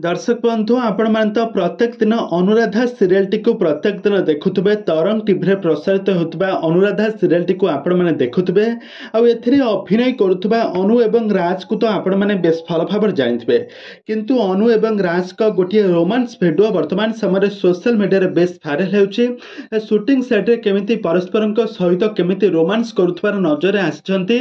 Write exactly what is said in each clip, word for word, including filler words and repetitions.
ଦର୍ଶକ ବନ୍ଧୁ, ଆପଣମାନେ ତ ପ୍ରତ୍ୟେକ ଦିନ ଅନୁରାଧା ସିରିଏଲଟିକୁ ପ୍ରତ୍ୟେକ ଦିନ ଦେଖୁଥିବେ। ତରଙ୍ଗ ଟିଭିରେ ପ୍ରସାରିତ ହେଉଥିବା ଅନୁରାଧା ସିରିଏଲଟିକୁ ଆପଣମାନେ ଦେଖୁଥିବେ, ଆଉ ଏଥିରେ ଅଭିନୟ କରୁଥିବା ଅନୁ ଏବଂ ରାଜକୁ ତ ଆପଣମାନେ ବେଶ ଭଲ ଭାବରେ ଜାଣିଥିବେ। କିନ୍ତୁ ଅନୁ ଏବଂ ରାଜଙ୍କ ଗୋଟିଏ ରୋମାନ୍ସ ଭିଡ଼ିଓ ବର୍ତ୍ତମାନ ସମୟରେ ସୋସିଆଲ ମିଡ଼ିଆରେ ବେଶ ଭାଇରାଲ ହେଉଛି। ସୁଟିଂ ସେଟ୍ରେ କେମିତି ପରସ୍ପରଙ୍କ ସହିତ କେମିତି ରୋମାନ୍ସ କରୁଥିବାର ନଜରରେ ଆସିଛନ୍ତି,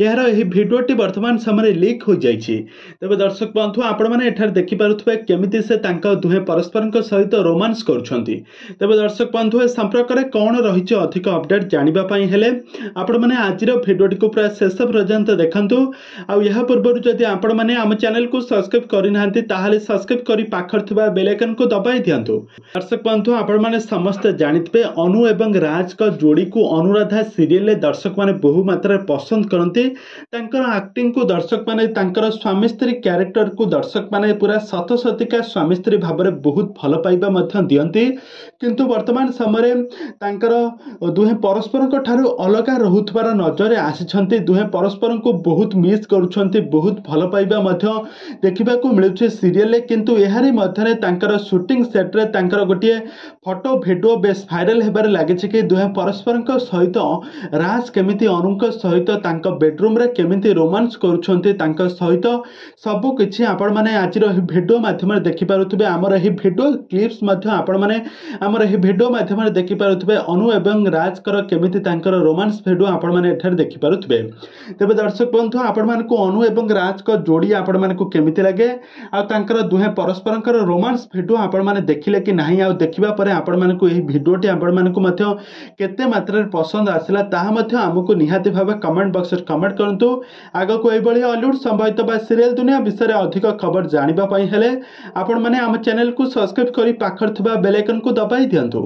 ଏହାର ଏହି ଭିଡ଼ିଓଟି ବର୍ତ୍ତମାନ ସମୟରେ ଲିକ୍ ହୋଇଯାଇଛି। ତେବେ ଦର୍ଶକ ବନ୍ଧୁ, ଆପଣମାନେ ଏଠାରେ ଦେଖିପାରୁଥିବେ କେମିତି ସେ ତାଙ୍କ ଦୁହେଁ ପରସ୍ପରଙ୍କ ସହିତ ରୋମାନ୍ସ କରୁଛନ୍ତି। ତେବେ ଦର୍ଶକ ବନ୍ଧୁ, ଏ ସମ୍ପର୍କରେ କ'ଣ ରହିଛି ଅଧିକ ଅପଡେଟ୍ ଜାଣିବା ପାଇଁ ହେଲେ ଆପଣମାନେ ଆଜିର ଭିଡ଼ିଓଟିକୁ ପୁରା ଶେଷ ପର୍ଯ୍ୟନ୍ତ ଦେଖନ୍ତୁ। ଆଉ ଏହା ପୂର୍ବରୁ ଯଦି ଆପଣମାନେ ଆମ ଚ୍ୟାନେଲକୁ ସବସ୍କ୍ରାଇବ୍ କରିନାହାନ୍ତି, ତାହେଲେ ସବସ୍କ୍ରାଇବ୍ କରି ପାଖରେ ଥିବା ବେଲ୍ ଆଇକନ୍କୁ ଦବାଇ ଦିଅନ୍ତୁ। ଦର୍ଶକ ବନ୍ଧୁ, ଆପଣମାନେ ସମସ୍ତେ ଜାଣିଥିବେ ଅନୁ ଏବଂ ରାଜଙ୍କ ଯୋଡ଼ିକୁ ଅନୁରାଧା ସିରିଏଲରେ ଦର୍ଶକମାନେ ବହୁ ମାତ୍ରାରେ ପସନ୍ଦ କରନ୍ତି। ତାଙ୍କର ଆକ୍ଟିଂକୁ ଦର୍ଶକମାନେ, ତାଙ୍କର ସ୍ୱାମୀ ସ୍ତ୍ରୀ କ୍ୟାରେକ୍ଟରକୁ ଦର୍ଶକମାନେ ପୁରା ସତ ସତିକା ସ୍ୱାମୀ ସ୍ତ୍ରୀ ଭାବରେ ବହୁତ ଭଲ ପାଇବା ମଧ୍ୟ ଦିଅନ୍ତି। କିନ୍ତୁ ବର୍ତ୍ତମାନ ସମୟରେ ତାଙ୍କର ଦୁହେଁ ପରସ୍ପରଙ୍କ ଠାରୁ ଅଲଗା ରହୁଥିବାର ନଜରରେ ଆସିଛନ୍ତି। ଦୁହେଁ ପରସ୍ପରଙ୍କୁ ବହୁତ ମିସ୍ କରୁଛନ୍ତି, ବହୁତ ଭଲ ପାଇବା ମଧ୍ୟ ଦେଖିବାକୁ ମିଳୁଛି ସିରିଏଲରେ। କିନ୍ତୁ ଏହାରି ମଧ୍ୟରେ ତାଙ୍କର ସୁଟିଂ ସେଟ୍ରେ ତାଙ୍କର ଗୋଟିଏ ଫଟୋ ଭିଡ଼ିଓ ବେଶ ଭାଇରାଲ ହେବାରେ ଲାଗିଛି କି ଦୁହେଁ ପରସ୍ପରଙ୍କ ସହିତ, ରାଜ କେମିତି ଅନୁଙ୍କ ସହିତ ତାଙ୍କ ବେଡରୁମ୍ରେ କେମିତି ରୋମାନ୍ସ କରୁଛନ୍ତି ତାଙ୍କ ସହିତ, ସବୁ କିଛି ଆପଣମାନେ ଆଜିର ଏହି ଭିଡ଼ିଓ ମାଧ୍ୟମରେ ଦେଖିପାରୁଥିବେ। ଆମର ଏହି ଭିଡ଼ିଓ କ୍ଲିପ୍ସ ମଧ୍ୟ ଆପଣମାନେ ଆମର ଏହି ଭିଡ଼ିଓ ମାଧ୍ୟମରେ ଦେଖିପାରୁଥିବେ। ଅନୁ ଏବଂ ରାଜଙ୍କର କେମିତି ତାଙ୍କର ରୋମାନ୍ସ ଭିଡ଼ିଓ ଆପଣମାନେ ଏଠାରେ ଦେଖିପାରୁଥିବେ। ତେବେ ଦର୍ଶକ ବନ୍ଧୁ, ଆପଣମାନଙ୍କୁ ଅନୁ ଏବଂ ରାଜଙ୍କ ଯୋଡ଼ି ଆପଣମାନଙ୍କୁ କେମିତି ଲାଗେ, ଆଉ ତାଙ୍କର ଦୁହେଁ ପରସ୍ପରଙ୍କର ରୋମାନ୍ସ ଭିଡ଼ିଓ ଆପଣମାନେ ଦେଖିଲେ କି ନାହିଁ, ଆଉ ଦେଖିବା ପରେ ଆପଣମାନଙ୍କୁ ଏହି ଭିଡ଼ିଓଟି ଆପଣମାନଙ୍କୁ ମଧ୍ୟ କେତେ ମାତ୍ରାରେ ପସନ୍ଦ ଆସିଲା, ତାହା ମଧ୍ୟ ଆମକୁ ନିହାତି ଭାବେ କମେଣ୍ଟ ବକ୍ସରେ କମେଣ୍ଟ କରନ୍ତୁ। ଆଗକୁ ଏଇଭଳି ଅଲିଉଡ୍ ସମ୍ବନ୍ଧିତ ବା ସିରିଏଲ ଦୁନିଆ ବିଷୟରେ ଅଧିକ ଖବର ଜାଣିବା ପାଇଁ ହେଲେ ଆପଣମାନେ ଆମ ଚ୍ୟାନେଲକୁ ସବସ୍କ୍ରାଇବ୍ କରି ପାଖରେ ଥିବା ବେଲ୍ ଆଇକନ୍କୁ ଦବାଇ ଦିଅନ୍ତୁ।